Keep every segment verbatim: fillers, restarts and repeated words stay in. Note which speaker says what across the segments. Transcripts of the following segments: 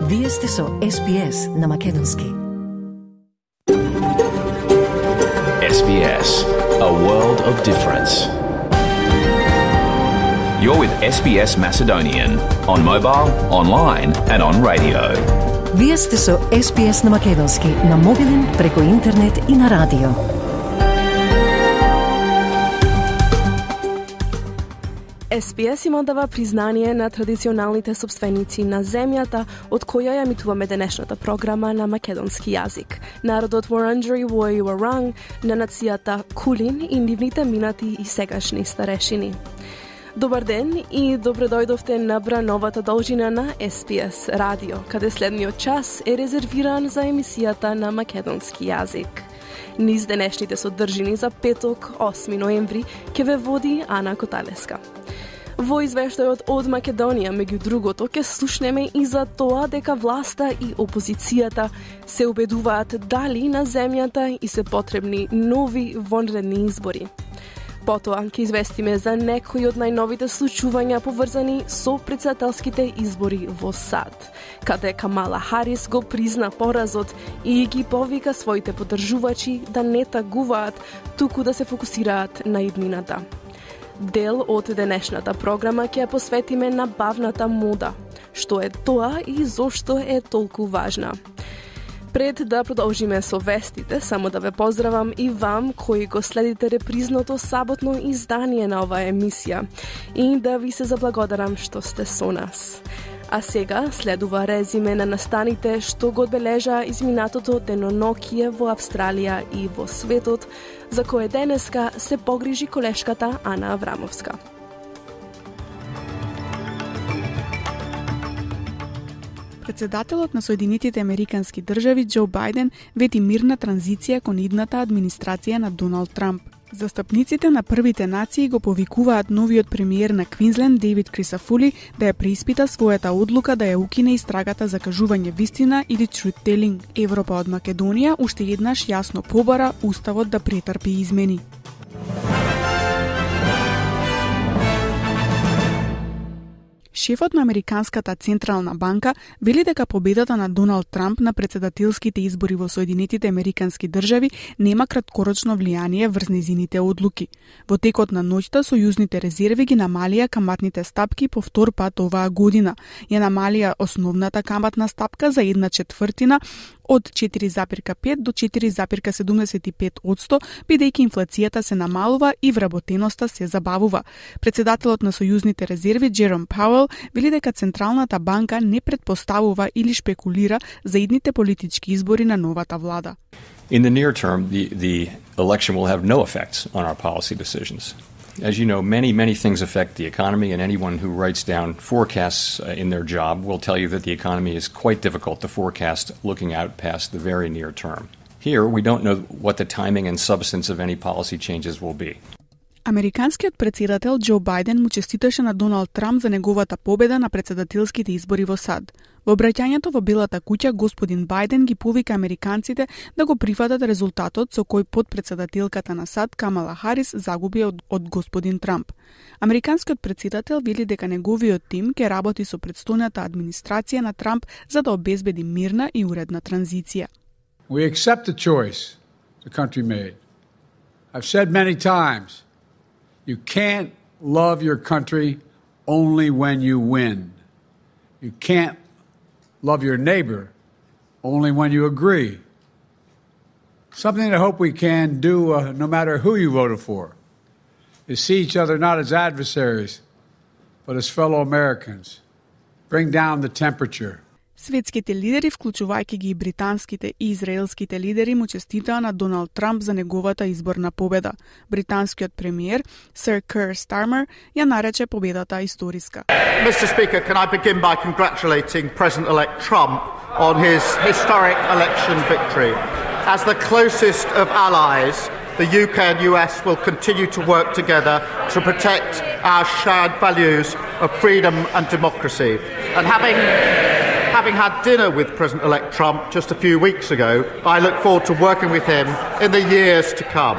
Speaker 1: Вие сте со Ес Би Ес на Македонски.
Speaker 2: Ес Би Ес, a world of difference. You're with Ес Би Ес Macedonian on mobile, online and on radio.
Speaker 1: Вие сте со Ес Би Ес на Македонски, на мобилен, преку интернет и на радио.
Speaker 3: Ес Би Ес има дава признание на традиционалните собственици на земјата, од која ја емитуваме денешната програма на македонски јазик. Народот Вуранџери Вој Варанг, на нацијата Кулин и нивните минати и сегашни старешини. Добар ден и добре дојдовте на брановата должина на Ес Би Ес радио, каде следниот час е резервиран за емисијата на македонски јазик. Низ денешните содржини за петок, осми ноември, ќе ве води Ана Коталеска. Во извештајот од Македонија, меѓу другото, ќе слушнеме и за тоа дека власта и опозицијата се убедуваат дали на земјата и се потребни нови вонредни избори. Потоа ќе известиме за некои од најновите случувања поврзани со претседателските избори во САД, каде Камала Харис го призна поразот и ги повика своите поддржувачи да не тагуваат, туку да се фокусираат на иднината. Дел од денешната програма ќе ја посветиме на бавната мода. Што е тоа и зошто е толку важна? Пред да продолжиме со вестите, само да ве поздравам и вам кои го следите репризното саботно издание на оваа емисија и да ви се заблагодарам што сте со нас. А сега следува резиме на настаните што го одбележа изминатото деноноќие во Австралија и во светот, за кое денеска се погрижи колешката Ана Аврамовска.
Speaker 4: Председателот на Соединетите Американски држави Џо Бајден вети мирна транзиција кон идната администрација на Доналд Трамп. Застапниците на првите нации го повикуваат новиот премиер на Квинсленд Дейвид Крисафули да ја преиспита својата одлука да ја укине истрагата за кажување вистина или truth telling. Европа од Македонија уште еднаш јасно побара уставот да претрпи измени. Шефот на Американската централна банка вели дека победата на Доналд Трамп на претседателските избори во Соединетите Американски држави нема краткорочно влијание врз нејзините одлуки. Во текот на ноќта сојузните резерви ги намалија каматните стапки по втор пат оваа година. Ја намалија основната каматна стапка за една четвртина од четири zarez пет до четири zarez седумдесет и пет одсто, бидејќи инфлацијата се намалува и вработеноста се забавува. Председателот на сојузните резерви Джером Пауел вели дека Централната банка не предпоставува или шпекулира за идните политички избори на новата влада.
Speaker 5: In the near term, the, the election will have no effects on our policy decisions. As you know, many, many things affect the economy, and anyone who writes down forecasts uh, in their job will tell you that the economy is quite difficult to forecast looking out past the very near term. Here, we don't know what the timing and substance of any policy changes will be.
Speaker 4: Американскиот претседател Џо Бајден му честиташе на Доналд Трамп за неговата победа на претседателските избори во САД. Во обраќањето во Белата куќа, господин Бајден ги повика американците да го прифатат резултатот со кој подпредседателката на САД Камала Харис загуби од, од господин Трамп. Американскиот претседател вели дека неговиот тим ќе работи со претстојната администрација на Трамп за да обезбеди мирна и уредна транзиција.
Speaker 6: We accept the choice the country made. I've said many times, you can't love your country only when you win. You can't love your neighbor only when you agree. Something I hope we can do, uh, no matter who you voted for, is see each other not as adversaries, but as fellow Americans. Bring down the temperature.
Speaker 4: Светските лидери, вклучувајќи ги и британските и израелските лидери, му честитаа на Доналд Трамп за неговата изборна победа. Британскиот премиер, Сир Кер Стармер, ја нарече победата историска.
Speaker 7: Mister Speaker, can I begin by congratulating President-elect Trump on his historic election victory. As the closest of allies, the U K and U S will continue to work together to protect our shared values of freedom and democracy. And having Having had dinner with President-elect Trump just a few weeks ago, I look forward to working with him in the years to come.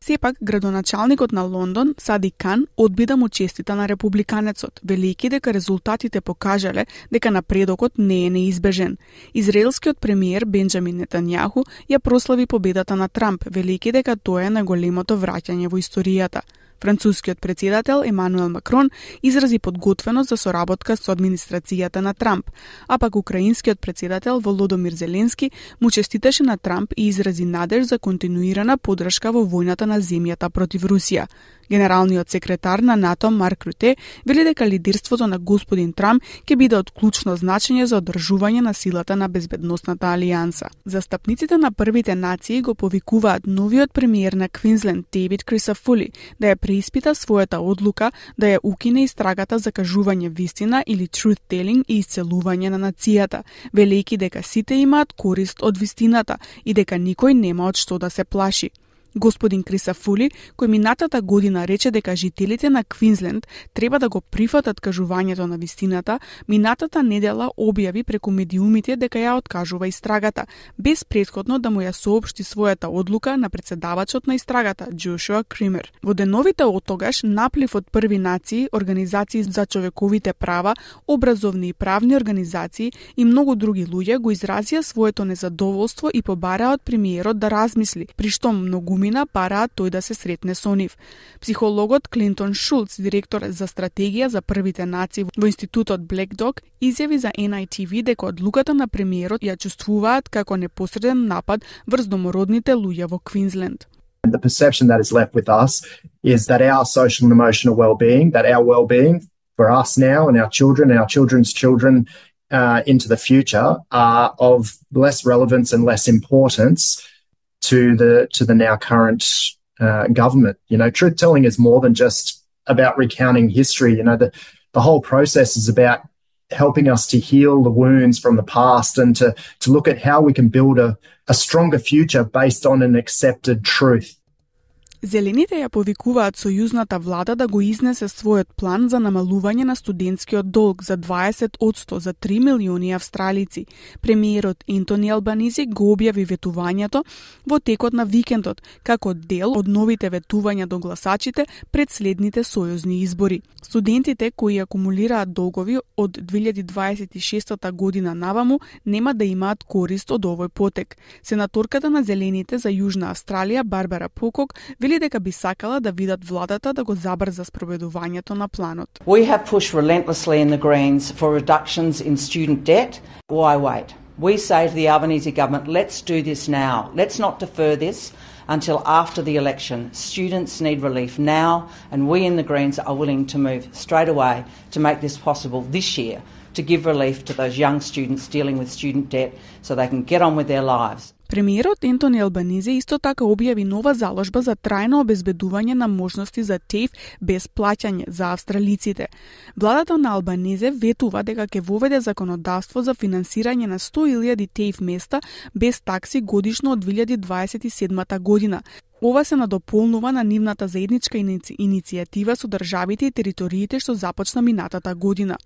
Speaker 4: Сепак, градоначалникот на Лондон, Сади Кан, одби да му честита на републиканецот, велики дека резултатите покажале дека напредокот не е неизбежен. Израелскиот премиер Бенџамин Нетањаху ја прослави победата на Трамп, велики дека тоа е најголемото враќање во историјата. Францускиот председател Емануел Макрон изрази подготвеност за соработка со администрацијата на Трамп, а пак украинскиот председател Володомир Зеленски му честиташе на Трамп и изрази надеж за континуирана поддршка во војната на земјата против Русија. Генералниот секретар на НАТО Марк Руте вели дека лидерството на господин Трамп ќе биде од клучно значење за одржување на силата на безбедносната алијанса. Застапниците на првите нации го повикуваат новиот премиер на Квинсленд Дейвид Крисафули да ја преиспита својата одлука да ја укине истрагата за кажување вистина или truth telling и исцелување на нацијата, велејќи дека сите имаат корист од вистината и дека никој нема од што да се плаши. Господин Крисафули, кој минатата година рече дека жителите на Квинсленд треба да го прифатат кажувањето на вистината, минатата недела објави преку медиумите дека ја откажува истрагата, без претходно да му ја соопшти својата одлука на председавачот на истрагата, Джошуа Кример. Во деновите од тогаш, наплив од први нации, организации за човековите права, образовни и правни организации и многу други луѓе го изразија своето незадоволство и побараа од премиерот да размисли, при што многу параат тој да се сретне со нив. Психологот Клинтон Шулц, директор за стратегија за првите нации во институтот Black Dog, изјави за Ен Ај Ти Ви дека одлуката на премиерот ја чувствуваат како непосреден напад врз домородните луѓе во Квинсленд.
Speaker 8: The perception that is left with us is that our social and emotional well-being, that our well-being for us now and our children and our children's children uh, into the future are of less relevance and less importance to the to the now current uh, government. You know, truth telling is more than just about recounting history. You know, the the whole process is about helping us to heal the wounds from the past and to to look at how we can build a a stronger future based on an accepted truth.
Speaker 4: Зелените ја повикуваат сојузната влада да го изнесе својот план за намалување на студентскиот долг за дваесет одсто за три милиони австралици. Премиерот Ентони Албанизи го објави ветувањето во текот на викендот, како дел од новите ветувања до гласачите пред следните сојузни избори. Студентите кои акумулираат долгови од две илјади дваесет и шеста година наваму нема да имаат корист од овој потек. Сенаторката на Зелените за Јужна Австралија Барбара Покок вели дека би сакала да видат владата да го забрза спроведувањето на планот.
Speaker 9: We have pushed relentlessly in the Greens for reductions in student debt. Why wait? We say to the Albanese government, let's do this now. Let's not defer this until after the election. Students need relief now, and we in the Greens are willing to move straight away to make this possible this year, to give relief to those young students dealing with student debt so they can get on with their lives.
Speaker 4: Премиерот Ентони Албанизи исто така објави нова заложба за трајно обезбедување на можности за ТЕЙФ без плаќање за австралиците. Владата на Албанизе ветува дека ќе воведе законодавство за финансирање на сто илјади ТЕЙФ места без такси годишно од две илјади дваесет и седма година. Ова се надополнува на нивната заедничка иници... иницијатива со државите и териториите што започна минатата година.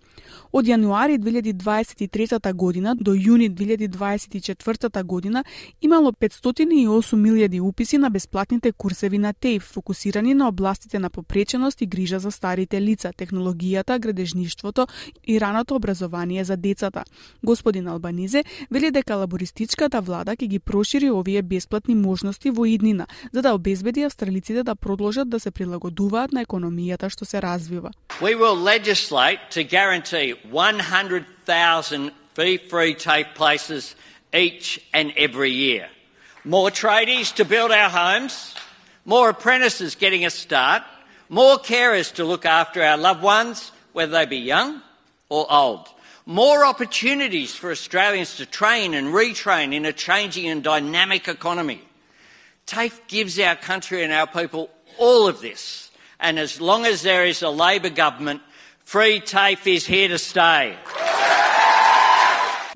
Speaker 4: Од јануари две илјади дваесет и трета година до јуни две илјади дваесет и четврта година имало петстотини и осум илјади уписи на бесплатните курсеви на ТЕЙФ, фокусирани на областите на попреченост и грижа за старите лица, технологијата, градежништвото и раното образование за децата. Господин Албанизе вели дека лабористичката влада ќе ги прошири овие бесплатни можности во иднина, за да обезбеди австралиците да продолжат да се прилагодуваат на економијата што се развива.
Speaker 10: We will legislate to guarantee one hundred thousand fee-free TAFE places each and every year. More tradies to build our homes, more apprentices getting a start, more carers to look after our loved ones, whether they be young or old. More opportunities for Australians to train and retrain in a changing and dynamic economy. TAFE gives our country and our people all of this. And as long as there is a Labor government, free TAFE is here to stay.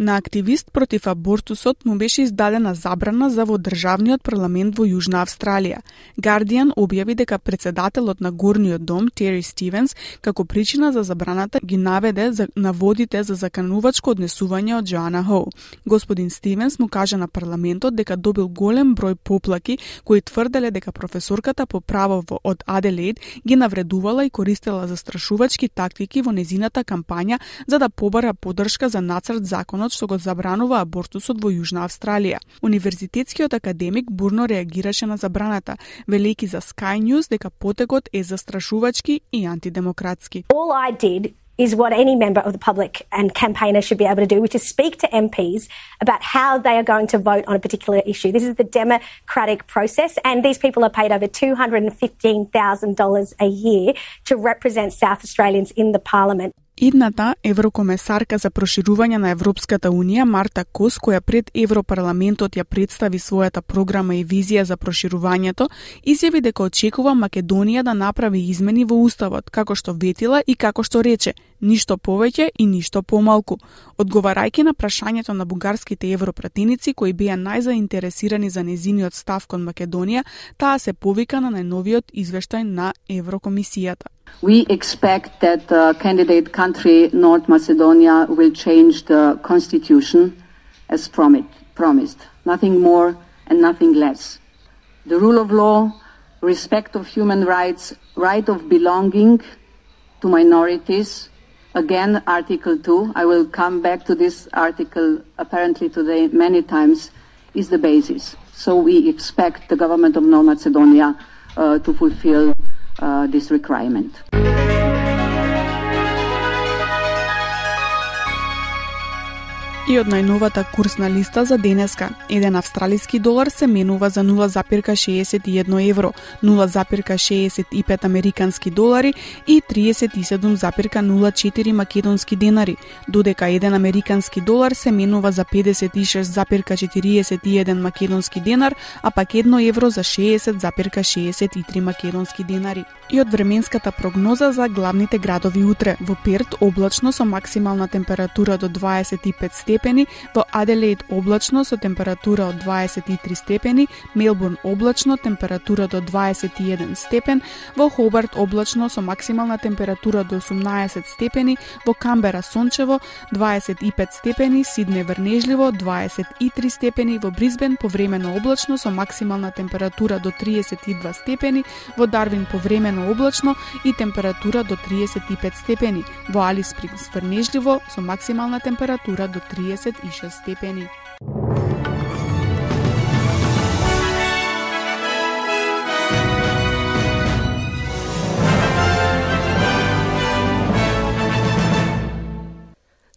Speaker 4: На активист против абортусот му беше издадена забрана за во државниот парламент во Јужна Австралија. Guardian објави дека председателот на Горниот дом, Тери Стивенс, како причина за забраната ги наведе за наводите за заканувачко однесување од Джоана Хоу. Господин Стивенс му кажа на парламентот дека добил голем број поплаки кои тврделе дека професорката по право од Аделаид ги навредувала и користела застрашувачки тактики во незината кампања за да побара поддршка за нацрт законот што го забранува абортусот во Јужна Австралија. Универзитетскиот академик бурно реагираше на забраната, велејќи за Sky News дека потегот е застрашувачки и антидемократски.
Speaker 11: All I did is what any member of the public and campaigner should be able to do, which is speak to M Ps about how they are going to vote on a particular issue. This is the democratic process, and these people are paid over two hundred fifteen thousand dollars a year to represent South Australians in the parliament.
Speaker 4: Идната еврокомесарка за проширување на Европската Унија, Марта Кос, која пред Европарламентот ја представи својата програма и визија за проширувањето, изјави дека очекува Македонија да направи измени во Уставот, како што ветила и како што рече, ништо повеќе и ништо помалку. Одговарајќи на прашањето на бугарските европратеници кои беа најзаинтересирани за незиниот став кон Македонија, таа се повика на најновиот извештај на Еврокомисијата.
Speaker 12: We expect that the candidate country, North Macedonia, will change the constitution as promised. Nothing more and nothing less. The rule of law, respect of human rights, right of belonging to minorities. Again, Article two, I will come back to this article apparently today many times, is the basis. So we expect the government of North Macedonia uh, to fulfill Uh, this requirement.
Speaker 4: И од најновата курсна листа за денеска, еден австралиски долар се менува за нула запирка шеесет и едно евро, нула запирка шеесет и пет американски долари и триесет и седум запирка нула четири македонски денари, додека еден американски долар се менува за педесет и шест запирка четириесет и еден македонски денар, а пак едно евро за шеесет запирка шеесет и три македонски денари. И од временската прогноза за главните градови утре, во Перт облачно со максимална температура до дваесет и пет степени, во Аделаид облачно со температура од дваесет и три степени, Мелбурн облачно, температура до дваесет и еден степен, во Хобарт облачно со максимална температура до осумнаесет степени, во Камбера сончево дваесет и пет степени, Сидне врнежливо дваесет и три степени, во Брисбен повремено облачно со максимална температура до триесет и два степени, во Дарвин повремено облачно и температура до триесет и пет степени, во Алис Спрингс врнежливо со максимална температура до триесет и шест степени.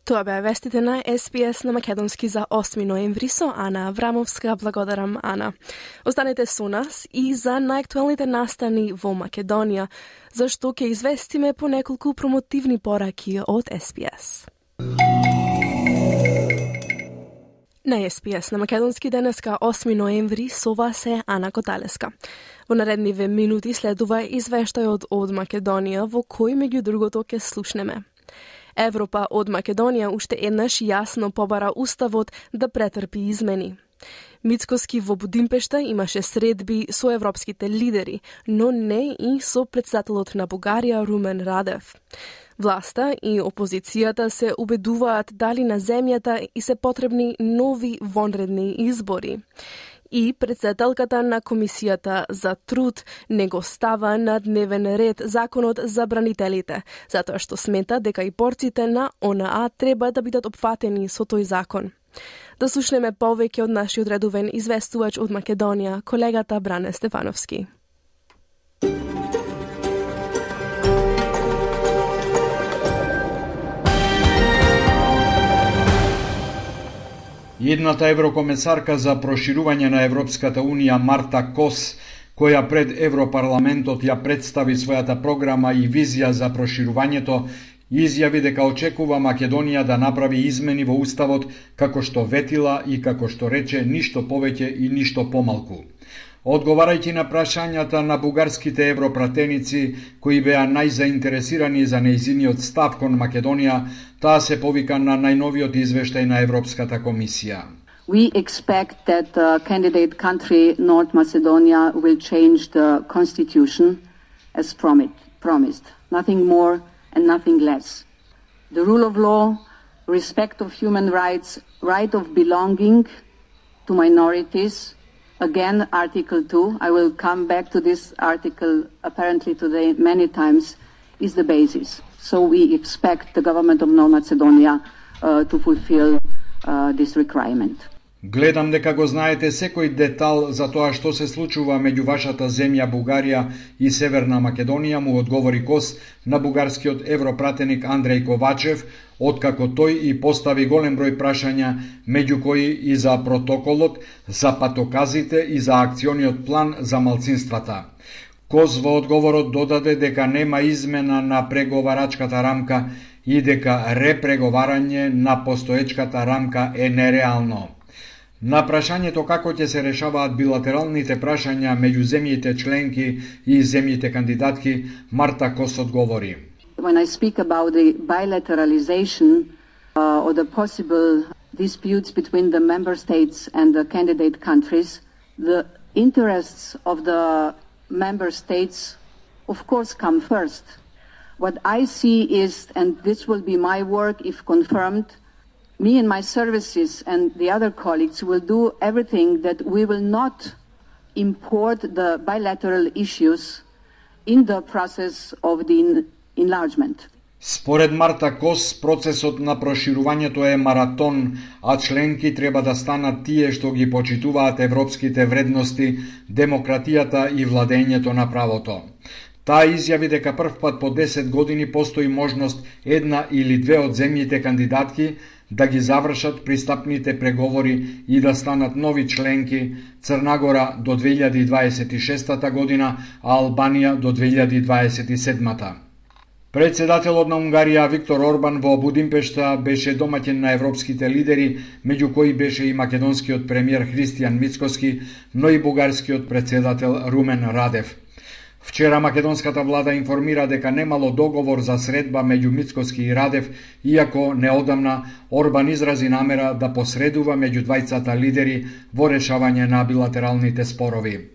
Speaker 3: Тоа беа вестите на Ес Би Ес на македонски за осми ноември со Ана Аврамовска. Благодарам, Ана. Останете со нас и за најактуелните настани во Македонија, зашто ќе известиме по неколку промотивни пораки од Ес Би Ес. На Ес Би Ес на македонски денеска осми ноември со вас е Ана Коталеска. Во наредниве минути следува извештајот од Македонија во кој меѓу другото ќе слушнеме. Европа од Македонија уште еднаш јасно побара уставот да претрпи измени. Мицкоски во Будимпешта имаше средби со европските лидери, но не и со претседателот на Бугарија Румен Радев. Власта и опозицијата се убедуваат дали на земјата и се потребни нови вонредни избори. И претседателката на Комисијата за труд не го става на дневен ред законот за бранителите, затоа што смета дека и борците на О Н А треба да бидат опфатени со тој закон. Да слушнеме повеќе од нашиот редовен известувач од Македонија, колегата Бране Стефановски.
Speaker 13: Едната еврокомесарка за проширување на Европската Унија Марта Кос, која пред Европарламентот ја представи својата програма и визија за проширувањето, изјави дека очекува Македонија да направи измени во уставот како што ветила и како што рече ништо повеќе и ништо помалку. Одговарајќи на прашањата на бугарските европратеници, кои беа најзаинтересирани за нејзиниот став кон Македонија, таа се повика на најновиот извештај на Европската комисија.
Speaker 12: We expect that the candidate country, North Macedonia, will change the constitution as promised. Nothing more and nothing less. The rule of law, respect of human rights, right of belonging to minorities. Again, Article two, I will come back to this article apparently today many times, is the basis. So we expect the government of North Macedonia uh, to fulfill uh, this requirement.
Speaker 13: Гледам дека го знаете секој детал за тоа што се случува меѓу вашата земја Бугарија и Северна Македонија, му одговори Кос на бугарскиот европратеник Андреј Ковачев, откако тој и постави голем број прашања, меѓу кои и за протоколот, за патоказите и за акциониот план за малцинствата. Кос во одговорот додаде дека нема измена на преговарачката рамка и дека репреговарање на постоечката рамка е нереално. На прашањето како ќе се решаваат билатералните прашања меѓу земјите членки и земјите кандидатки, Марта Кос одговори.
Speaker 12: When I speak about the bilateralization uh, or the possible disputes between the member states and the candidate countries, the interests of the member states of course come first. What I see is, and this will be my work if confirmed, me and my services and the other colleagues will do everything that we will not import the bilateral issues in the process of the enlargement.
Speaker 13: Според Марта Кос, процесот на проширувањето е маратон, а членки треба да станат тие што ги почитуваат европските вредности, демократијата и владењето на правото. Таа изјави дека првпат по десет години постои можност една или две од земјите кандидатки да ги завршат пристапните преговори и да станат нови членки, Црна Гора до две илјади дваесет и шеста година, а Албанија до две илјади дваесет и седма. Председателот на Унгарија Виктор Орбан во Будимпешта беше домаќин на европските лидери, меѓу кои беше и македонскиот премиер Христијан Мицкоски, но и бугарскиот председател Румен Радев. Вчера македонската влада информира дека немало договор за средба меѓу Мицкоски и Радев, иако неодамна Орбан изрази намера да посредува меѓу двајцата лидери во решавање на билатералните спорови.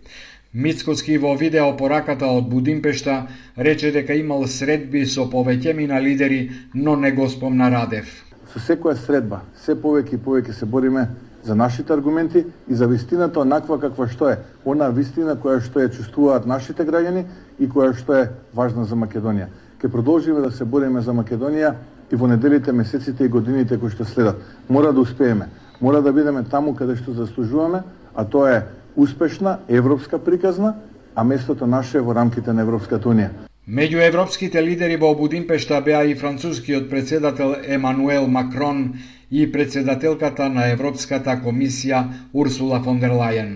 Speaker 13: Мицкоски во видеопораката од Будимпешта рече дека имал средби со повеќемина лидери, но не го спомна Радев.
Speaker 14: Со секоја средба, се повеќе и повеќе се бориме за нашите аргументи и за вистината онаква каква што е, она вистина која што ја чувствуваат нашите граѓани и која што е важна за Македонија. Ке продолжиме да се бориме за Македонија и во неделите, месеците и годините кои што следат. Мора да успееме, мора да бидеме таму каде што заслужуваме, а тоа е успешна европска приказна, а местото наше е во рамките на Европската унија.
Speaker 13: Меѓу европските лидери во Будимпешта беа и францускиот председател Емануел Макрон и председателката на Европската комисија Урсула фон дер Лајен.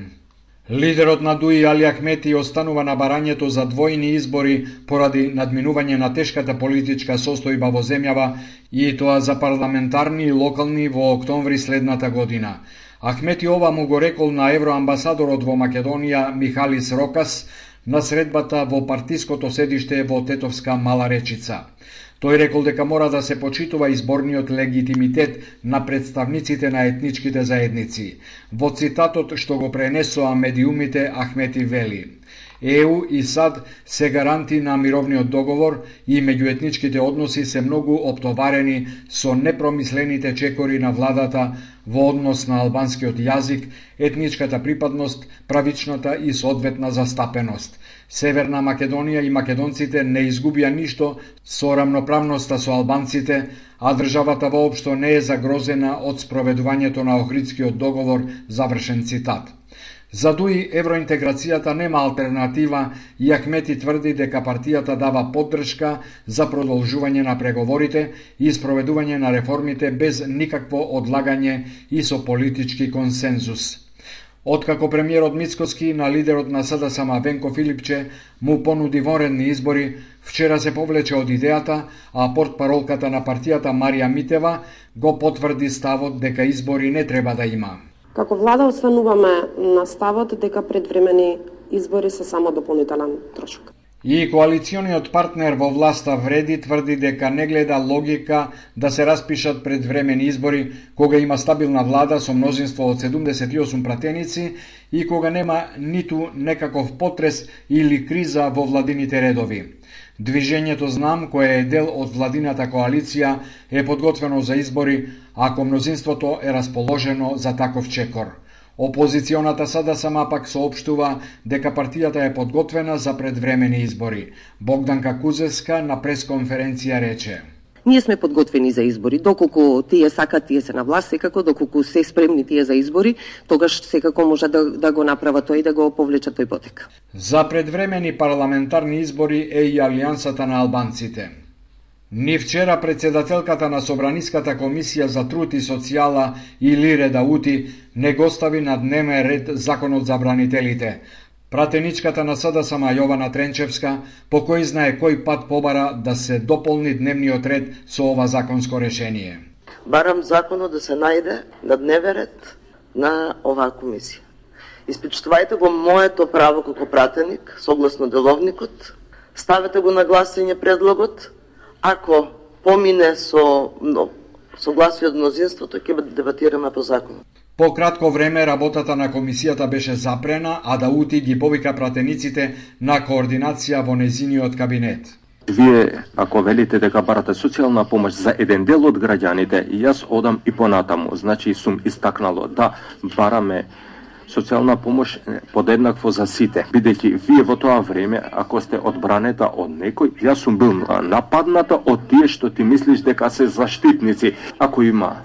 Speaker 13: Лидерот на ДУИ Али Ахмети останува на барањето за двојни избори поради надминување на тешката политичка состојба во земјава и тоа за парламентарни и локални во октомври следната година. Ахмети ова му го рекол на евроамбасадорот во Македонија Михалис Рокас на средбата во партиското седиште во Тетовска Мала Речица. Тој рекол дека мора да се почитува изборниот легитимитет на представниците на етничките заедници. Во цитатот што го пренесоа медиумите, Ахмети вели: ЕУ и САД се гаранти на мировниот договор и меѓуетничките односи се многу оптоварени со непромислените чекори на владата во однос на албанскиот јазик, етничката припадност, правичната и соодветна застапеност. Северна Македонија и македонците не изгубија ништо со рамноправноста со албанците, а државата воопшто не е загрозена од спроведувањето на Охридскиот договор, завршен цитат. За ДУИ евроинтеграцијата нема алтернатива и Ахмети тврди дека партијата дава поддршка за продолжување на преговорите и спроведување на реформите без никакво одлагање и со политички консензус. Откако премиерот Мицкоски на лидерот на СДСМ Венко Филипче му понуди вонредни избори, вчера се повлече од идејата, а портпаролката на партијата Марија Митева го потврди ставот дека избори не треба да има.
Speaker 15: Како влада остануваме на ставот дека предвремени избори се само дополнителен трошок.
Speaker 13: И коалициониот партнер во власта Вреди тврди дека не гледа логика да се распишат предвремени избори кога има стабилна влада со мнозинство од седумдесет и осум пратеници и кога нема ниту некаков потрес или криза во владините редови. Движењето Знам, кое е дел од владината коалиција, е подготвено за избори ако мнозинството е расположено за таков чекор. Опозиционата Сада сама пак соопштува дека партијата е подготвена за предвремени избори. Богданка Кузеска на пресконференција рече:
Speaker 16: Ние сме подготвени за избори, доколку тие сакат, тие се на власт, секако, доколку се спремни тие за избори, тогаш секако може да, да го направат тој и да го повлечат тој потек.
Speaker 13: За предвремени парламентарни избори е и Алијансата на албанците. Ни вчера председателката на Собраниската комисија за труд и социјала Илире Даути не го стави на дневен ред законот за бранителите. Пратеничката на СДСМ Јована Тренчевска по кој знае кој пат побара да се дополни дневниот ред со ова законско решение.
Speaker 17: Барам законот да се најде на дневен ред на оваа комисија. Испичтувајте го моето право како пратеник, согласно деловникот, ставете го на гласање предлогот. Ако помине со согласие од мнозинството, ќе дебатираме по законот.
Speaker 13: По кратко време работата на комисијата беше запрена, а Даути ги повика пратениците на координација во незиниот кабинет.
Speaker 18: Вие, ако велите дека барате социјална помош за еден дел од граѓаните, јас одам и понатаму. Значи сум истакнало да бараме социјална помош подеднакво за сите, бидејќи вие во тоа време, ако сте одбранета од некој, јас сум бил нападната од тие што ти мислиш дека се заштитници. Ако има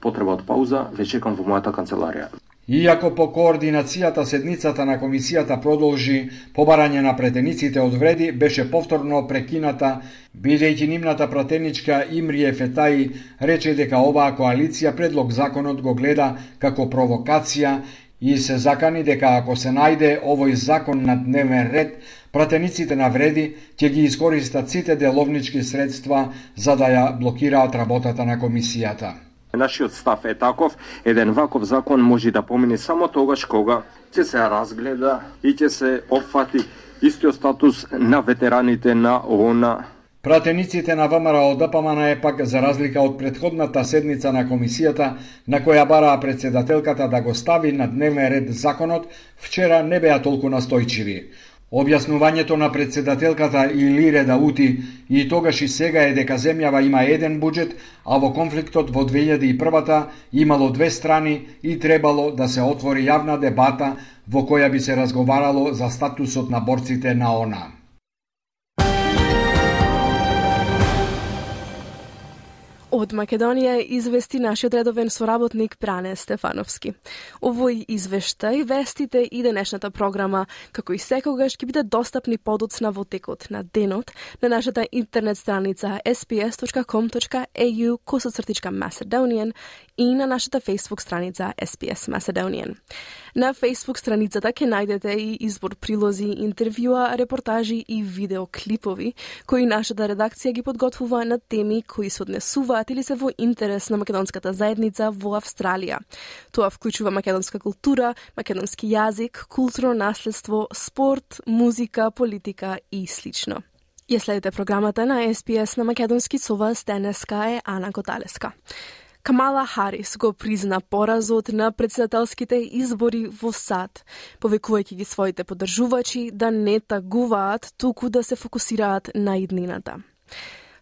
Speaker 18: потреба од пауза, ве чекам во мојата канцеларија.
Speaker 13: Иако по координацијата седницата на комисијата продолжи, побарање на претениците од Вреди беше повторно прекината, бидејќи нивната пратеничка Имрие Фетаи рече дека оваа коалиција предлог законот го гледа како провокација и се закани дека ако се најде овој закон на дневен ред, пратениците на Вреди ќе ги искористат сите деловнички средства за да ја блокираат работата на комисијата.
Speaker 18: Нашиот став е таков, еден ваков закон може да помине само тогаш кога ќе се разгледа и ќе се опфати истиот статус на ветераните на ООН.
Speaker 13: Пратениците на ВМРО ДПМН е пак, за разлика од претходната седница на комисијата, на која бараа председателката да го стави на дневен ред законот, вчера не беа толку настојчиви. Објаснувањето на председателката Илире Даути и тогаш и сега е дека земјава има еден буџет, а во конфликтот во две илјади и прва имало две страни и требало да се отвори јавна дебата во која би се разговарало за статусот на борците на ОНА.
Speaker 3: Од Македонија извести нашиот редовен соработник Бране Стефановски. Овој извештај, вестите и денешната програма, како и секогаш, ќе биде достапни подоцна во текот на денот на нашата интернет страница ес би ес точка ком точка ей ю косацртичка Macedonian и на нашата Facebook страница ес би ес Macedonian. На Facebook страницата ќе најдете и избор прилози, интервјуа, репортажи и видеоклипови, кои нашата редакција ги подготвува на теми кои се однесуваат или се во интерес на македонската заедница во Австралија. Тоа вклучува македонска култура, македонски јазик, културно наследство, спорт, музика, политика и слично. Ја следите програмата на ес би ес на македонски, со вас денеска е Ана Коталеска. Камала Харис го призна поразот на председателските избори во САД, повикувајќи ги своите поддржувачи да не тагуваат, туку да се фокусираат на иднината.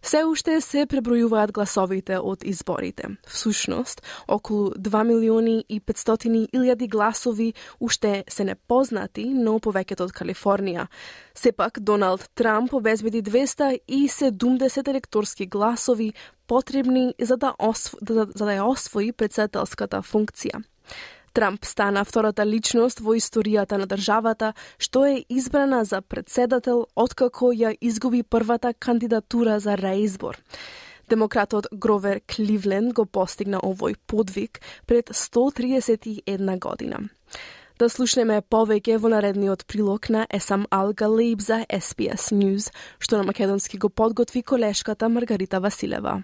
Speaker 3: Се уште се пребројуваат гласовите од изборите. Всушност, околу два милиони и петстотини илјади гласови уште се непознати, но повеќето од Калифорнија. Сепак, Доналд Трамп обезбеди двеста и седумдесет електорски гласови потребни за да, осво, за, за да ја освои председателската функција. Трамп стана втората личност во историјата на државата што е избрана за председател откако ја изгуби првата кандидатура за реизбор. Демократот Гровер Кливленд го постигна овој подвиг пред сто триесет и една година. Да слушнеме повеќе во наредниот прилог на Есам Ал Галиб за ес би ес News, што на македонски го подготви колешката Маргарита Василева.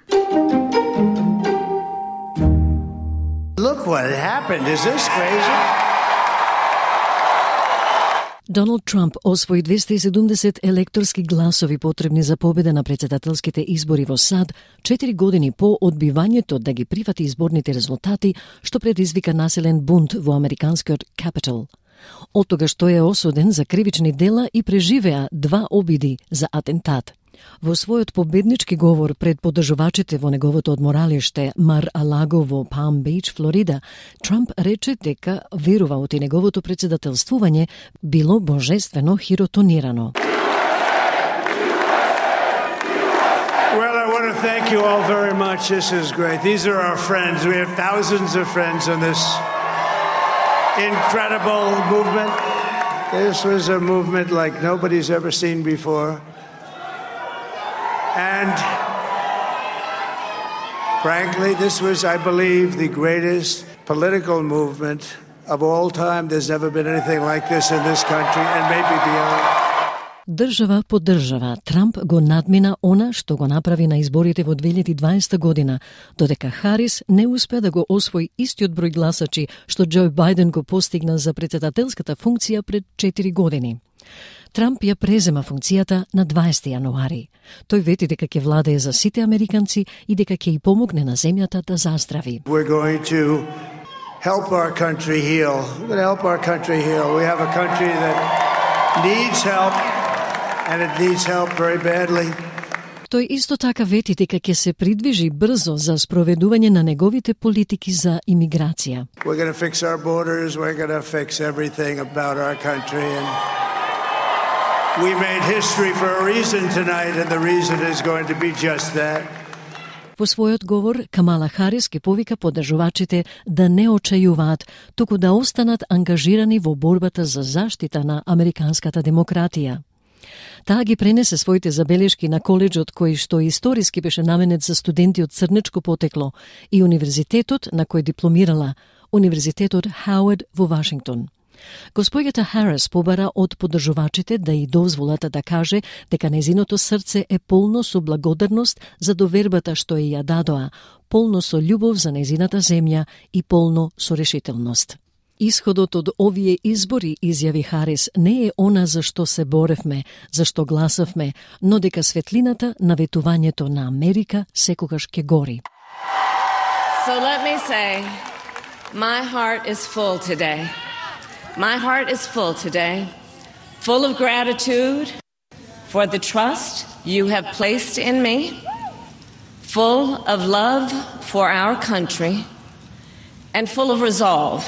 Speaker 19: Look what happened. Is this crazy?
Speaker 1: Доналд Трамп освои двеста и седумдесет електорски гласови потребни за победа на председателските избори во САД четири години по одбивањето да ги прифати изборните резултати, што предизвика населен бунт во американскиот Капитол. Од тогаш тој е осуден за кривични дела и преживеа два обиди за атентат. Во својот победнички говор пред поддржувачите во неговото одморалиште Мар-а-Лаго во Палм Бич, Флорида, Трамп рече дека верува оти неговото председателствување било божествено хиротонирано.
Speaker 19: Well, I want to thank you all very much. This is great. These are our friends. We have thousands of friends in this incredible movement. This was a movement like nobody's ever seen before. And frankly, this was, I believe, the greatest political movement of all time. There's never been anything like this in this country and maybe beyond.
Speaker 1: Држава по држава, Трамп го надмина она што го направи на изборите во две илјади и дваесета година, додека Харис не успеа да го освои истиот број гласачи што Џо Бајден го постигна за председателската функција пред четири години. Трамп ја презема функцијата на дваесети јануари. Тој вети дека ќе владее за сите американци и дека ќе и помогне на земјата да заздрави.
Speaker 19: We're going to help our country heal. We're going to help our country heal. We have a country that needs help and it needs help very badly.
Speaker 1: Тој исто така вети дека ќе се придвижи брзо за спроведување на неговите политики за имиграција.
Speaker 19: We're going to fix our borders. We're going to fix everything about our country and we made history for a reason tonight, and the reason is going to be just that.
Speaker 1: Во својот говор, Камала Харис ке повика поддржувачите да не очајуваат, туку да останат ангажирани во борбата за заштита на американската демократија. Таа ги пренесе своите забелешки на коледжот кој што историски беше наменет за студенти од црнечко потекло и универзитетот на кој дипломирала, Универзитетот Хауард во Вашингтон. Госпоѓата Харис побара од поддржувачите да и дозволат да каже дека нејзиното срце е полно со благодарност за довербата што ја дадоа, полно со љубов за нејзината земја и полно со решителност. Исходот од овие избори, изјави Харис, не е она за што се боревме, за што гласавме, но дека светлината на ветувањето на Америка секогаш ќе гори.
Speaker 20: So let me say, my heart is full today. My heart is full today, full of gratitude for the trust you have placed in me, full of love for our country, and full of resolve.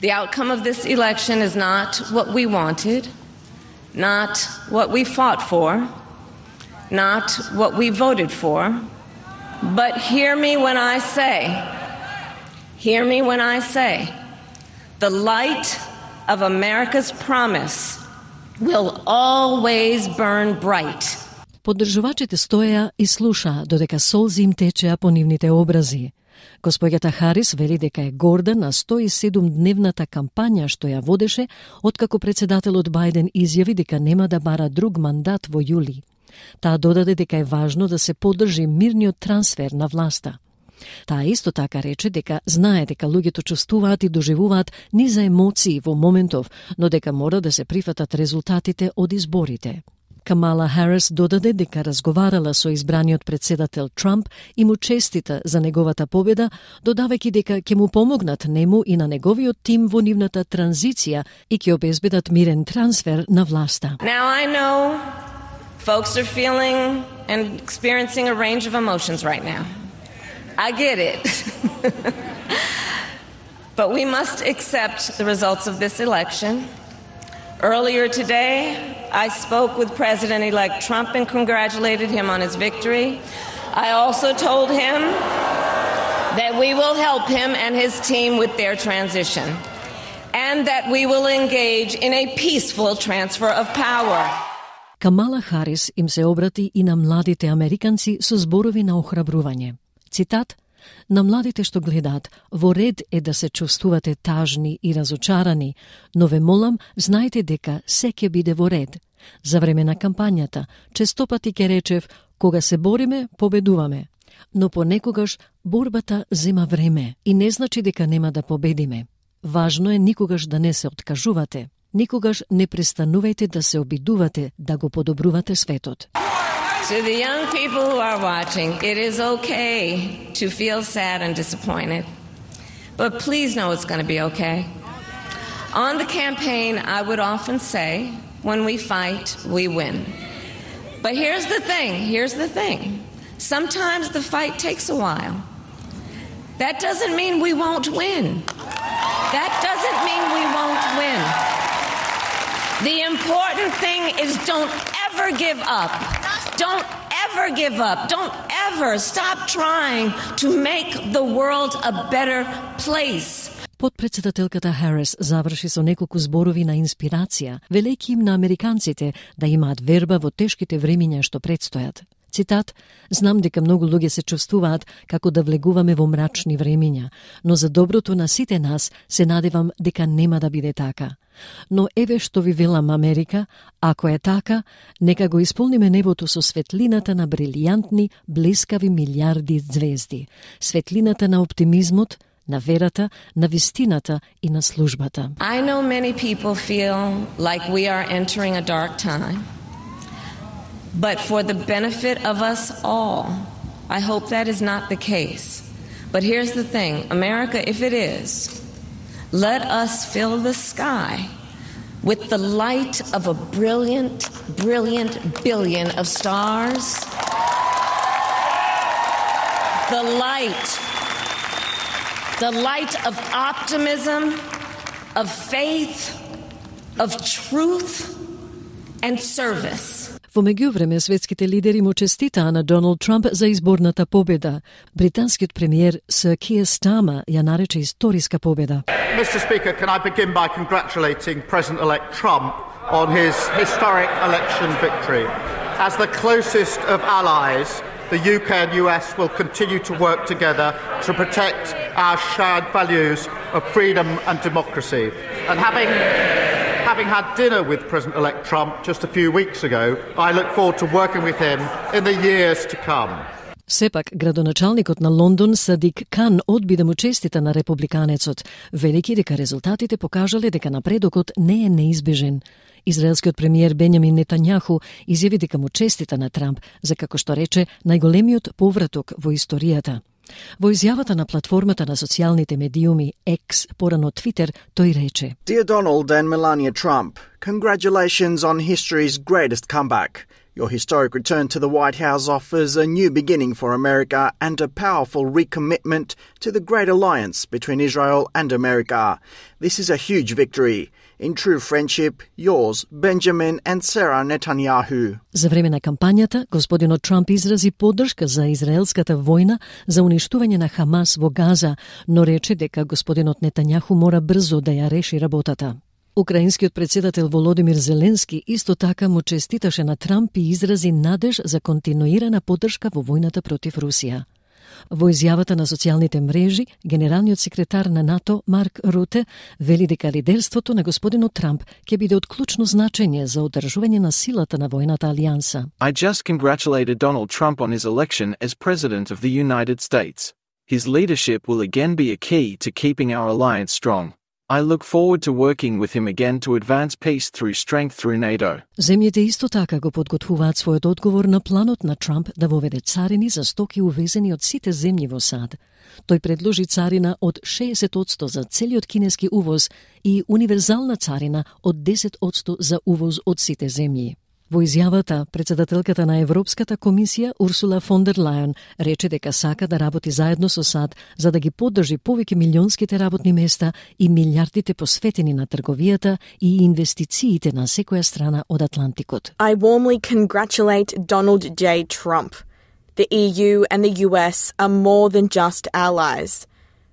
Speaker 20: The outcome of this election is not what we wanted, not what we fought for, not what we voted for, but hear me when I say, hear me when I say, the light of America's promise will always burn bright.
Speaker 1: Поддржувачите стоеа и слушаа додека солзи им течеа по нивните образи. Госпоѓата Харис вели дека е горда на сто и седум дневната кампања што ја водеше откако председателот Бајден изјави дека нема да бара друг мандат во јули. Таа додаде дека е важно да се поддржи мирниот трансфер на власта. Таа исто така рече дека знае дека луѓето чувствуваат и доживуваат низа емоции во моментов, но дека мора да се прифатат резултатите од изборите. Камала Харис додаде дека разговарала со избраниот председател Трамп и му честита за неговата победа, додавајќи дека ќе му помогнат нему и на неговиот тим во нивната транзиција и ќе обезбедат мирен трансфер на власта.
Speaker 20: Now I know folks are feeling and experiencing a range of emotions right now. I get it. But we must accept the results of this election. Earlier today, I spoke with President-elect Trump and congratulated him on his victory. I also told him that we will help him and his team with their transition, and that we will engage in a peaceful transfer of power.
Speaker 1: Камала Харис им се обрати и на младите американци со зборови на охрабрување. Цитат: на младите што гледаат, во ред е да се чувствувате тажни и разочарани, но ве молам, знајте дека се ќе биде во ред. За време на кампањата, честопати ќе речев, кога се бориме, победуваме. Но понекогаш борбата зема време и не значи дека нема да победиме. Важно е никогаш да не се откажувате. Никогаш не престанувајте да се обидувате да го подобрувате светот.
Speaker 20: To the young people who are watching, it is okay to feel sad and disappointed. But please know it's going to be okay. On the campaign, I would often say, when we fight, we win. But here's the thing, here's the thing. Sometimes the fight takes a while. That doesn't mean we won't win. That doesn't mean we won't win. The important thing is don't ever give up. Don't ever give up. Don't ever stop trying to make the world a better place.
Speaker 1: Подпредседателката Харис заврши со неколку зборови на инспирација, велејќи им на американците да имаат верба во тешките времиња што предстојат. Цитат: "Знам дека многу луѓе се чувствуваат како да влегуваме во мрачни времиња, но за доброто на сите нас се надевам дека нема да биде така. Но еве што ви велам, Америка, ако е така, нека го исполниме небото со светлината на брилијантни, блескави милиарди звезди, светлината на оптимизмот, на верата, на вистината и на службата."
Speaker 20: I know many people feel like we are entering a dark time. But for the benefit of us all, I hope that is not the case. But here's the thing, America, if it is, let us fill the sky with the light of a brilliant, brilliant billion of stars. The light, the light of optimism, of faith, of truth and service.
Speaker 1: Во меѓувреме, светските лидери му честитаа на Доналд Трамп за изборната победа. Британскиот премиер Сир Киер Стармер ја нарече историска победа.
Speaker 7: Mister Speaker, can I begin by congratulating President-elect Trump on his historic election victory. As the closest of allies, the U K and U S will continue to work together to protect our shared values of freedom and democracy. And having Having had dinner with President-elect Trump just a few weeks ago, I look forward to working with him in the years to come.
Speaker 1: Сепак, градоначалникот на Лондон Садик Кан одби да му честита на републиканецот, велики дека резултатите покажале дека напредокот не е неизбежен. Израелскиот премиер Бенјамин Нетањаху изјави дека му честита на Трамп за, како што рече, најголемиот повраток во историјата. Во изјавата на платформата на социјалните медиуми X, порано Twitter, тој рече:
Speaker 21: Dear Donald and Melania Trump, congratulations on history's greatest comeback. Your historic return to the White House offers a new beginning for America and a powerful recommitment to the great alliance between Israel and America. This is a huge victory. In true friendship, yours, Benjamin and Sarah Netanyahu.
Speaker 1: За време на кампањата, господинот Трамп изрази поддршка за израелската војна за уништување на Хамас во Газа, но рече дека господинот Нетањаху мора брзо да ја реши работата. Украинскиот председател Володимир Зеленски исто така му честиташе на Трамп и изрази надеж за континуирана поддршка во војната против Русија. Во изјавата на социјалните мрежи, генералниот секретар на НАТО Марк Руте вели дека лидерството на господинот Трамп ќе биде од клучно значење за одржување на силата на војната алијанса.
Speaker 22: I just congratulated Donald Trump on his election as President of the United States. His leadership will again be a key to keeping our alliance strong. I look forward to working with him again to advance peace through strength through NATO.
Speaker 1: Земјите исто така го подготвуваат својот одговор на планот на Трамп да воведе царини за стоки увезени од сите земји во САД. Тој предложи царина од шеесет одсто за целиот кинески увоз и универзална царина од десет одсто за увоз од сите земји. Во изјавата, председателката на Европската комисија Урсула фон дер Лајен рече дека сака да работи заедно со САД за да ги поддржи повеќе милионските работни места и милијардите посветени на трговијата и инвестициите на секоја страна од Атлантикот.
Speaker 3: I warmly congratulate Donald J. Trump. The E U and the U S are more than just allies.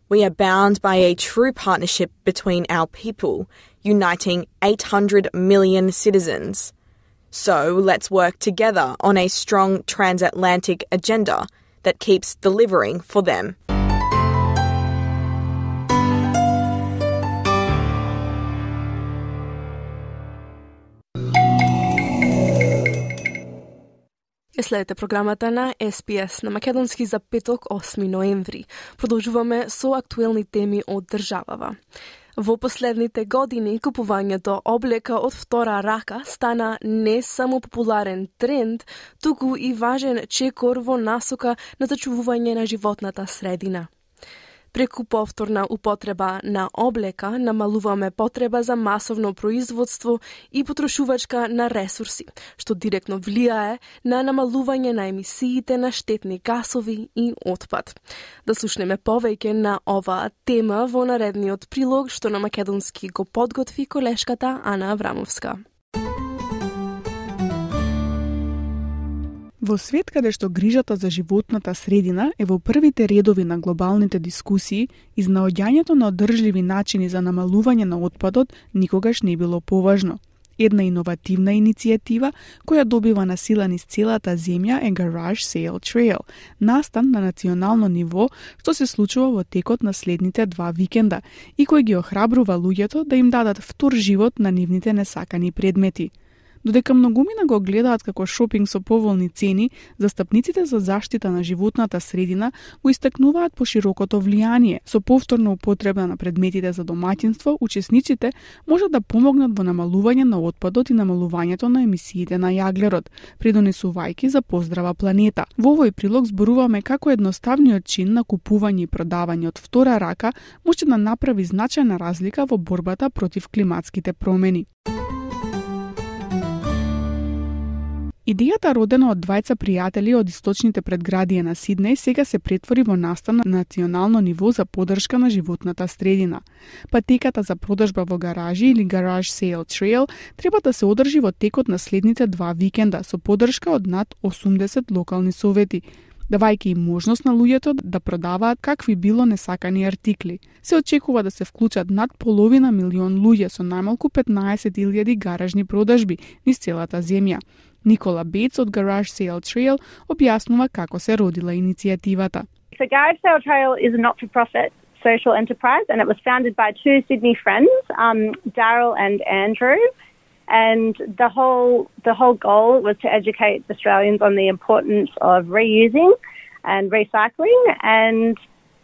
Speaker 3: We are bound by a true partnership between our people, uniting eight hundred million citizens. So let's work together on a strong transatlantic agenda that keeps delivering for them. Ја следете програмата на Ес Би Ес на македонски за петок, осми ноември. Продолжуваме со актуелни теми од државава. Во последните години купувањето облека од втора рака стана не само популарен тренд, туку и важен чекор во насока на зачувување на животната средина. Преку повторна употреба на облека намалуваме потреба за масовно производство и потрошувачка на ресурси, што директно влијае на намалување на емисиите на штетни гасови и отпад. Да слушнеме повеќе на оваа тема во наредниот прилог што на македонски го подготви колешката Ана Аврамовска.
Speaker 4: Во свет каде што грижата за животната средина е во првите редови на глобалните дискусии, изнаоѓањето на одржливи начини за намалување на отпадот никогаш не било поважно. Една иновативна иницијатива која добива на сила низ целата земја е Garage Sale Trail, настан на национално ниво што се случува во текот на следните два викенда и кој ги охрабрува луѓето да им дадат втор живот на нивните несакани предмети. Додека многумина го гледаат како шопинг со поволни цени, застапниците за заштита на животната средина го истакнуваат по широкото влијание. Со повторна употреба на предметите за домаќинство, учесниците можат да помогнат во намалување на отпадот и намалувањето на емисиите на јаглерод, придонесувајќи за поздрава планета. Во овој прилог зборуваме како едноставниот чин на купување и продавање од втора рака може да направи значајна разлика во борбата против климатските промени. Идејата родена од двајца пријатели од источните предградија на Сиднеј сега се претвори во настан на национално ниво за поддршка на животната средина. Патеката за продажба во гаражи или Garage Sale Trail треба да се одржи во текот на следните два викенда со поддршка од над осумдесет локални совети, давајќи им можност на луѓето да продаваат какви било несакани артикли. Се очекува да се вклучат над половина милион луѓе со најмалку петнаесет илјади гаражни продажби низ целата земја. Никола Бейтс од Garage Sale Trail објаснува како се родила иницијативата.
Speaker 2: So Garage Sale Trail is a not-for-profit social enterprise and it was founded by two Sydney friends, um, Daryl and Andrew. And the whole the whole goal was to educate Australians on the importance of reusing and recycling and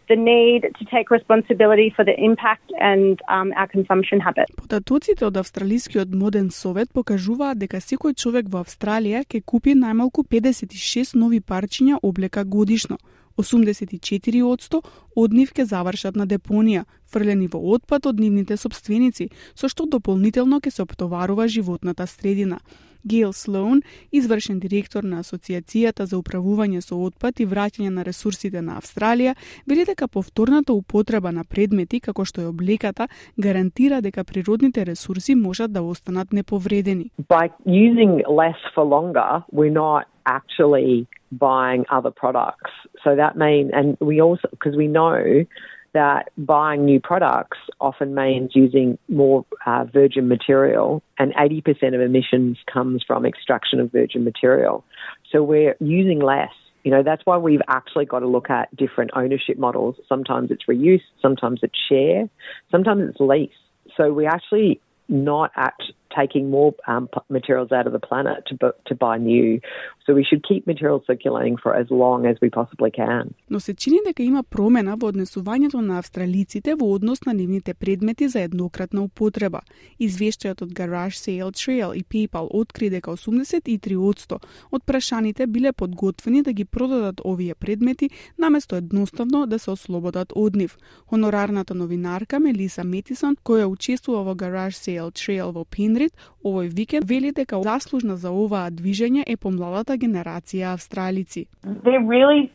Speaker 2: the need to take responsibility for the impact and um, our consumption habits.
Speaker 4: Податоците од Австралискиот моден совет покажуваат дека секој човек во Австралија ќе купи најмалку педесет и шест нови парчиња облека годишно. осумдесет и четири одсто од нив ќе завршат на депонија, фрлени во отпад од нивните сопственици, со што дополнително ќе се оптоварува животната средина. Гейл Слоун, извршен директор на Асоциацијата за управување со отпад и враќање на ресурсите на Австралија, вели дека повторната употреба на предмети како што е облеката гарантира дека природните ресурси можат да останат неповредени.
Speaker 5: By using less for longer, we're not actually buying other products. So that means, and we also, because we know that buying new products often means using more uh, virgin material, and eighty percent of emissions comes from extraction of virgin material. So we're using less. You know, that's why we've actually got to look at different ownership models. Sometimes it's reuse, sometimes it's share, sometimes it's lease. So we actually not at taking more um, materials out of the planet to, to buy new. So we should keep materials circulating for as long as we possibly can.
Speaker 4: Но се чини дека има промена во однесувањето на австралиците во однос на нивните предмети за еднократна употреба. Извештајот од Garage Sale Trail и PayPal откри дека осумдесет и три одсто од прашаните биле подготвени да ги продадат овие предмети наместо едноставно да се ослободат од нив. Хонорарната новинарка Мелиса Метисон, која учествува во Garage Sale Trail во Пенрид овој викенд, вели дека заслужна за оваа движење е помладата генерација австралици.
Speaker 23: They're really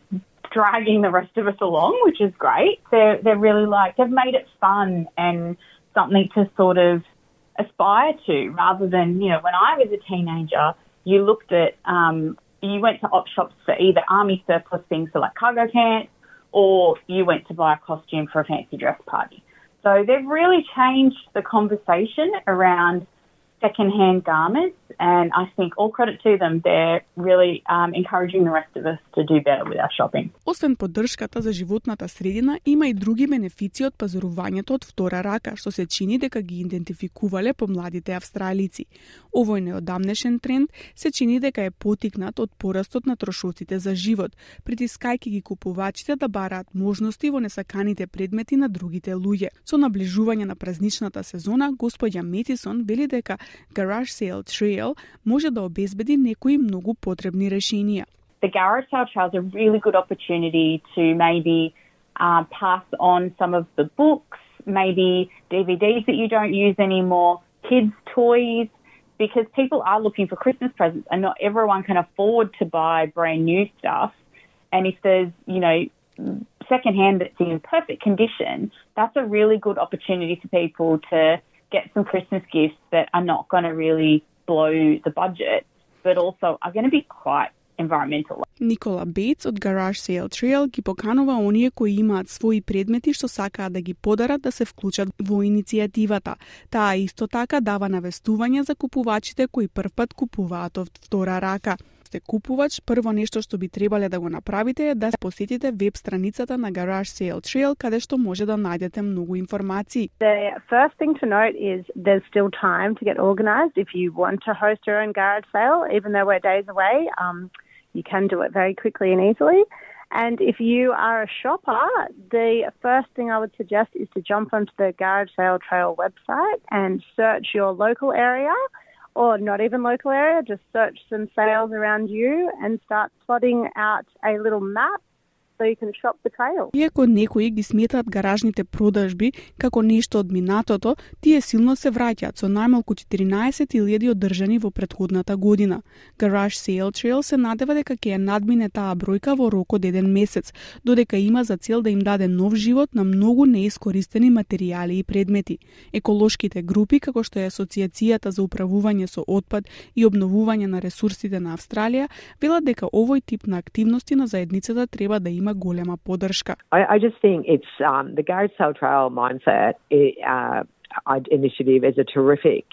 Speaker 23: dragging the rest of us along, which is great. They're they're really like they've made it fun and something to sort of aspire to, rather than, you know, when I was a teenager, you looked at um you went to op shops for either army surplus things, so like cargo pants, or you went to buy a costume for a fancy dress party. So they've really changed the conversation around second-hand garments and I think all credit to them. They're really um, encouraging the rest of us to do better with our shopping.
Speaker 4: Освен поддршката за животната средина, има и други бенефици од пазарувањето од втора рака, што се чини дека ги идентификувале помладите австралици. Овој неодамнешен тренд се чини дека е потикнат од порастот на трошоците за живот, притискајќи ги купувачите да бараат можности во несаканите предмети на другите луѓе. Со наближување на празничната сезона, господја Метисон вели дека Garage Sale Trail може да обезбеди некои многу потребни решенија.
Speaker 23: The Garage Sale Trail is a really good opportunity to maybe uh, pass on some of the books, maybe D V Ds that you don't use anymore, kids' toys, because people are looking for Christmas presents and not everyone can afford to buy brand new stuff. And if there's, you know, secondhand that's in perfect condition, that's a really good opportunity for people to get some Christmas gifts that are not going to really blow the budget, but also are going to be quite environmental.
Speaker 4: Никола Бейтс од Garage Sale Trail ги поканува оние кои имаат своји предмети што сакаат да ги подарат да се вклучат во иницијативата. Таа исто така дава навестување за купувачите кои првпат купуваат од втора рака. Сте купувач, прво нешто што би требале да го направите е да посетите веб страницата на Garage Sale Trail, каде што може да најдете многу информации.
Speaker 2: The first thing to note is there's still time to get organised if you want to host your own garage sale, even though we're days away. Um, you can do it very quickly and easily. And if you are a shopper, the first thing I would suggest is to jump onto the Garage Sale Trail website and search your local area, or not even local area, just search some sales around you and start plotting out a little map so you can shop the trail.
Speaker 4: Иако некои ги сметаат гаражните продажби како нешто од минатото, тие силно се враќаат со најмалку четиринаесет илјади одржани во претходната година. Garage Sale Trail се надева дека ќе ја надмине таа бројка во рок од еден месец, додека има за цел да им даде нов живот на многу неискористени материјали и предмети. Еколошките групи, како што е Асоциацијата за управување со отпад и обновување на ресурсите на Австралија, велат дека овој тип на активности на заедницата треба да има голема поддршка.
Speaker 5: I, I just think it's um, the Garage Sale Trail mindset uh, initiative is a terrific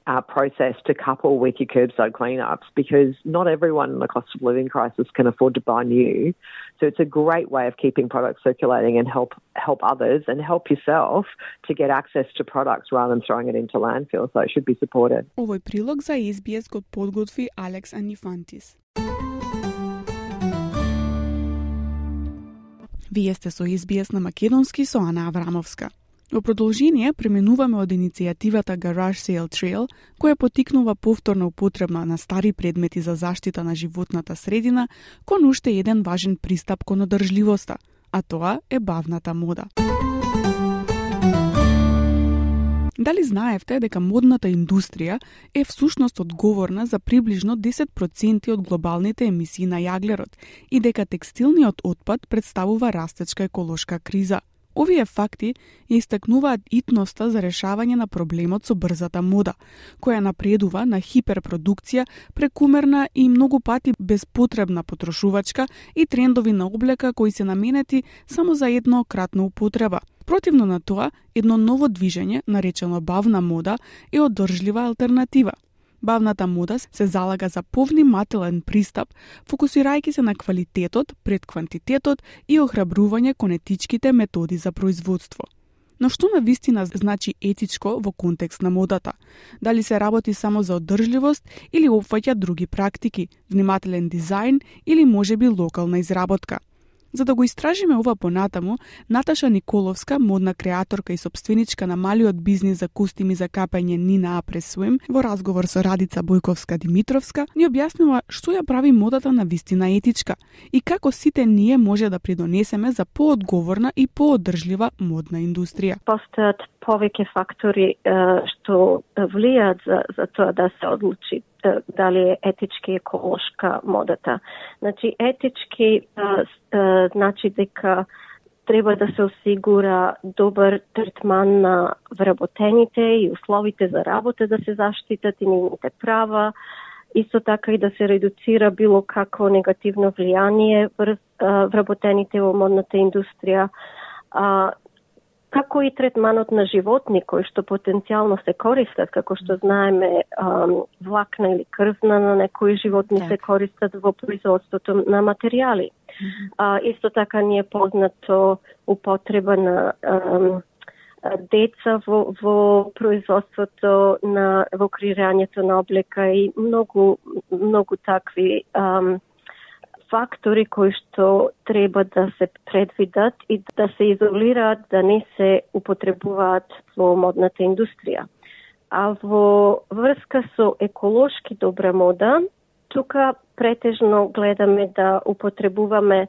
Speaker 5: uh, process to couple with your curbside cleanups, because not everyone in the cost of living crisis can afford to buy new. So it's a great way of keeping products circulating and help help others and help yourself to get access to products rather than throwing it into landfill. So it should be supported.
Speaker 4: Овој прилог за Ес Би Ес го подготви Алекс Анифантис. Вие сте со Ес Би Ес на македонски со Ана Аврамовска. Во продолжение преминуваме од иницијативата Garage Sale Trail, која потикнува повторна употреба на стари предмети за заштита на животната средина, кон уште еден важен пристап кон одржливоста, а тоа е бавната мода. Дали знаевте дека модната индустрија е всушност одговорна за приближно десет проценти од глобалните емисии на јаглерод и дека текстилниот отпад представува растечка еколошка криза? Овие факти ја истакнуваат итноста за решавање на проблемот со брзата мода, која напредува на хиперпродукција, прекумерна и многу пати безпотребна потрошувачка и трендови на облека кои се наменети само за еднократна употреба. Противно на тоа, едно ново движење, наречено бавна мода, е одржлива алтернатива. Бавната мода се залага за повнимателен пристап, фокусирајќи се на квалитетот пред квантитетот и охрабрување кон етичките методи за производство. Но што на вистина значи етичко во контекст на модата? Дали се работи само за одржливост или опфаќа други практики, внимателен дизајн или можеби локална изработка? За да го истражиме ова понатаму, Наташа Николовска, модна креаторка и собственичка на малиот бизнис за костими за капање Nina Après Swim, во разговор со Радица Бојковска-Димитровска, ни објаснува што ја прави модата на вистина етичка и како сите ние може да придонесеме за поодговорна и поодржлива модна индустрија.
Speaker 6: Постојат повеќе фактори што влијаат за, за тоа да се одлучи дали е етички и еколошка модата. Значи, етички а, а, значи дека треба да се осигура добар третман на вработените и условите за работа да се заштитат и нивните права, исто така и да се редуцира било какво негативно влијание врз вработените во модната индустрија. А, како и третманот на животни кои што потенцијално се користат, како што знаеме, влакна или крвна на некои животни так. Се користат во производството на материјали. Mm-hmm. А, исто така ни е познато употреба на ам, деца во, во производството на во креирањето на облека и многу многу такви ам, фактори кои што треба да се предвидат и да се изолираат, да не се употребуваат во модната индустрија. А во врска со еколошки добра мода, тука претежно гледаме да употребуваме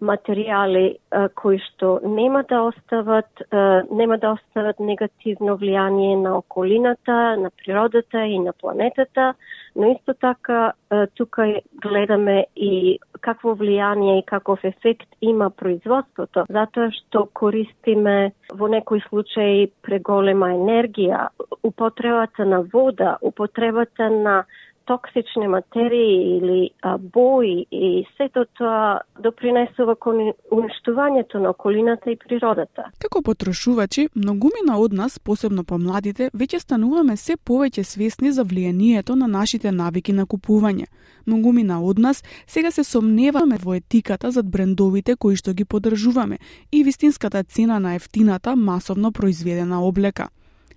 Speaker 6: материјали а, кои што нема да остават а, нема да остават негативно влијание на околината, на природата и на планетата, но исто така а, тука гледаме и какво влијание и каков ефект има производството, затоа што користиме во некои случаи преголема енергија, употребата на вода, употребата на токсични материи или а, бои и сето тоа допринесува кон уништувањето на околината и природата.
Speaker 4: Како потрошувачи, многумина од нас, посебно помладите, веќе стануваме се повеќе свесни за влијанието на нашите навики на купување. Многумина од нас сега се сомневаме во етиката зад брендовите кои што ги поддржуваме и вистинската цена на ефтината масовно произведена облека.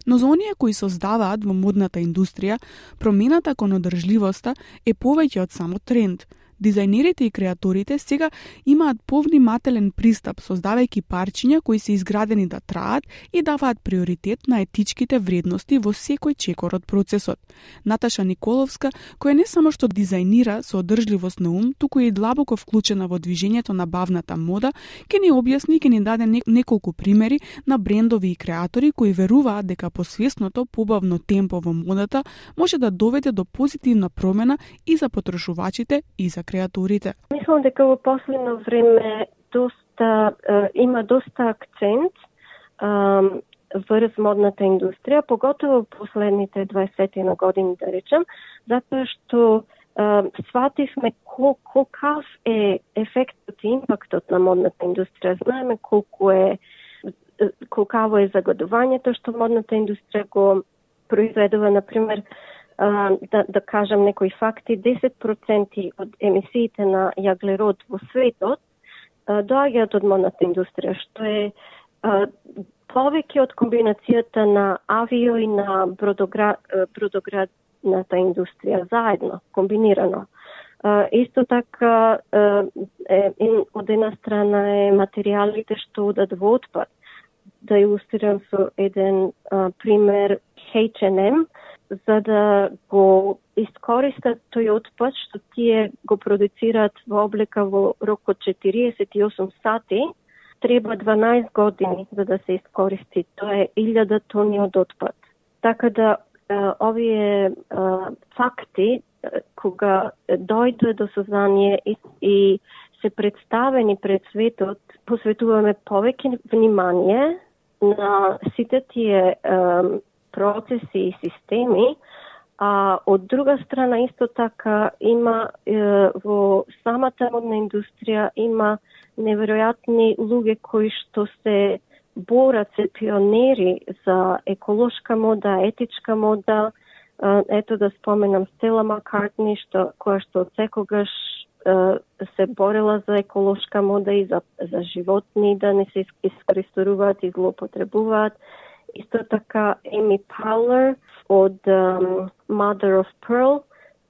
Speaker 4: Но за оние кои создаваат во модната индустрија, промената кон одржливоста е повеќе од само тренд. Дизајнерите и креаторите сега имаат повнимателен пристап, создавајќи парчиња кои се изградени да траат и даваат приоритет на етичките вредности во секој чекор од процесот. Наташа Николовска, која не само што дизајнира со одржливост на ум, туку и длабоко вклучена во движењето на бавната мода, ќе ни објасни и ќе ни даде неколку примери на брендови и креатори кои веруваат дека посвесното побавно темпо во модата може да доведе до позитивна промена и за потрошувачите и за креаторите.
Speaker 6: Мислам дека во последно време доста е, има доста акцент е, врз модната индустрија, поготово во последните дваесет на години, да речем, затоа што е, свативме кол, колкав е ефектот и импактот на модната индустрија. Знаеме колку е колкаво е загадувањето што модната индустрија го произведува, например, Uh, да, да кажам некои факти, десет проценти од емисиите на јаглерод во светот uh, доаѓаат од модната индустрија, што е uh, повеќе од комбинацијата на авио и на бродогра... бродоградната индустрија заедно, комбинирано. Uh, исто така, uh, е, од една страна е материјалите што одат во отпад. Да илустрирам со еден uh, пример H and M, за да го искористат тој отпад што тие го продуцираат во облека во рок од четириесет и осум сати, треба дванаесет години за да се искористи. Тоа е илјада тони од отпад. Така да овие факти, кога дојде до сознание и, и се представени пред светот, посветуваме повеќе внимание на сите тие процеси и системи, а од друга страна исто така има е, во самата модна индустрија има неверојатни луѓе кои што се борат, се пионери за еколошка мода, етичка мода. Ето да споменам Стела Маккартни, што која што од секогаш е, се борела за еколошка мода и за, за животни да не се искористуваат и злоупотребуваат. Исто така Еми Паулер од um, Mother of Pearl.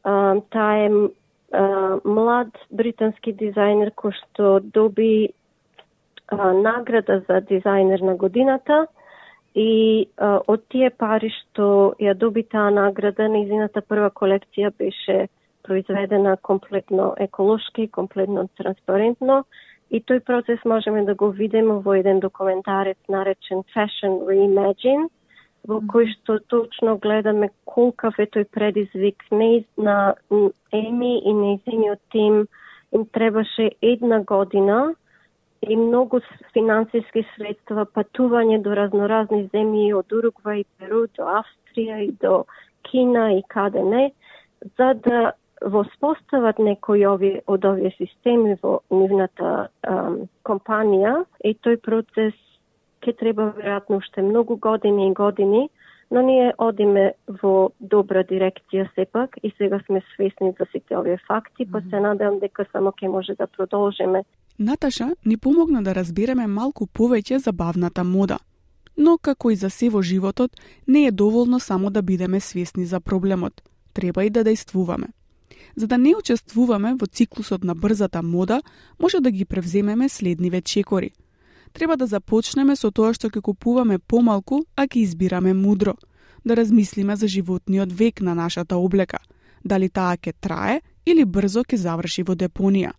Speaker 6: Um, таа е uh, млад британски дизајнер кој што доби uh, награда за дизајнер на годината и uh, од тие пари што ја доби таа награда, нејзината прва колекција беше произведена комплетно еколошки, комплетно транспарентно. И тој процес можеме да го видиме во еден документарец наречен Fashion Reimagine, во кој што точно гледаме колкав е тој предизвик. Не на Еми и нејзиниот тим им требаше една година и многу финансиски средства, патување до разноразни земји, од Уругвај и Перу до Австрија и до Кина и каде не, за да воспостават некои ови, од овие системи во нивната ам, компанија и тој процес ќе треба веројатно уште многу години и години, но ние одиме во добра дирекција сепак и сега сме свесни за сите овие факти, па се надевам дека само ќе може да продолжиме.
Speaker 4: Наташа ни помогна да разбереме малку повеќе за бавната мода. Но, како и за се во животот, не е доволно само да бидеме свесни за проблемот. Треба и да дејствуваме. За да не учествуваме во циклусот на брзата мода, може да ги превземеме следниве чекори. Треба да започнеме со тоа што ќе купуваме помалку, а ќе избираме мудро. Да размислиме за животниот век на нашата облека. Дали таа ќе трае или брзо ќе заврши во депонија.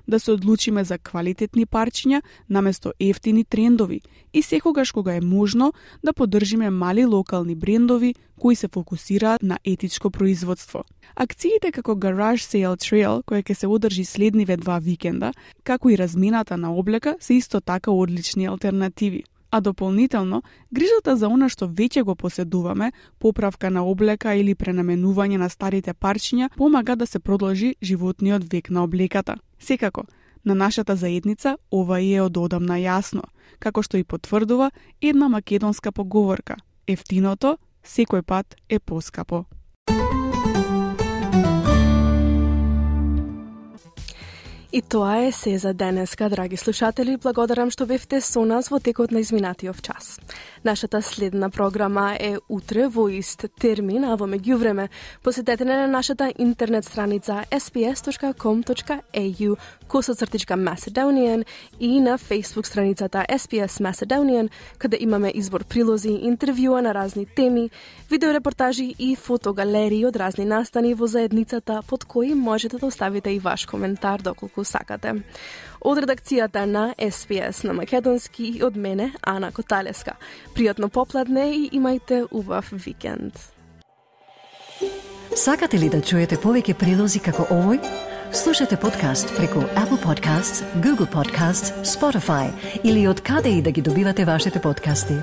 Speaker 4: Да се одлучиме за квалитетни парчиња наместо ефтини трендови и секогаш кога е можно да поддржиме мали локални брендови кои се фокусираат на етичко производство. Акциите како Garage Sale Trail, која ќе се одржи следниве два викенда, како и размената на облека, се исто така одлични алтернативи. А дополнително, грижата за она што веќе го поседуваме, поправка на облека или пренаменување на старите парчиња, помага да се продолжи животниот век на облеката. Секако, на нашата заедница ова е од одамна јасно, како што и потврдува една македонска поговорка: ефтиното секој пат е поскапо.
Speaker 3: И тоа е се за денеска, драги слушатели. Благодарам што бевте со нас во текот на изминатиот час. Нашата следна програма е утре во ист термин, а во меѓувреме посетете на нашата интернет страница ес би ес точка ком точка ей ю косацртичка Macedonian и на Facebook страницата ес би ес Macedonian, каде имаме избор прилози, интервјуа на разни теми, видеорепортажи и фотогалерии од разни настани во заедницата, под кои можете да оставите и ваш коментар доколку сакате. Од редакцијата на ес би ес на македонски и од мене, Ана Коталеска. Пријатно попладне и имајте убав викенд.
Speaker 1: Сакате ли да чуете повеќе прилози како овој? Слушате подкаст преку Apple Podcasts, Google Podcasts, Spotify или од каде и да ги добивате вашите подкасти.